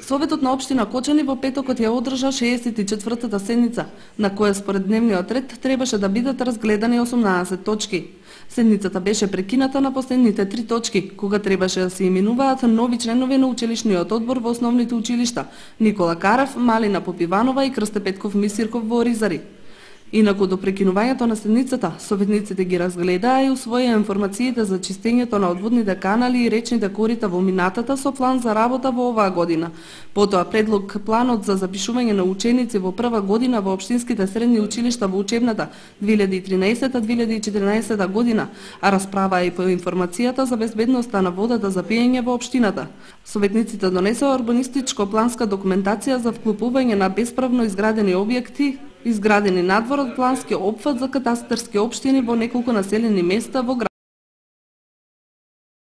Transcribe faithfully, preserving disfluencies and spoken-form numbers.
Советот на општина Кочани во петокот ја одржа шеесет и четвртата седница, на која според дневниот ред требаше да бидат разгледани осумнаесет точки. Седницата беше прекината на последните три точки, кога требаше да се именуваат нови членови на училишниот одбор во основните училишта: Никола Карев, Малина Попиванова и Крсте Петков Мисирков во Оризари. Инаку до прекинувањето на седницата, советниците ги разгледаа и усвоија информациите за чистењето на одводните канали и речните корита во минатата со план за работа во оваа година. Потоа предлог планот за запишување на ученици во прва година во општинските средни училишта во учебната две илјади и тринаесета две илјади и четиринаесета година, а расправа и по информацијата за безбедноста на водата за пиење во општината. Советниците донесоа урбанистичко-планска документација за вклупување на бесправно изградени објекти изградени надвор од плански опфат за катастарски општини во неколку населени места во градот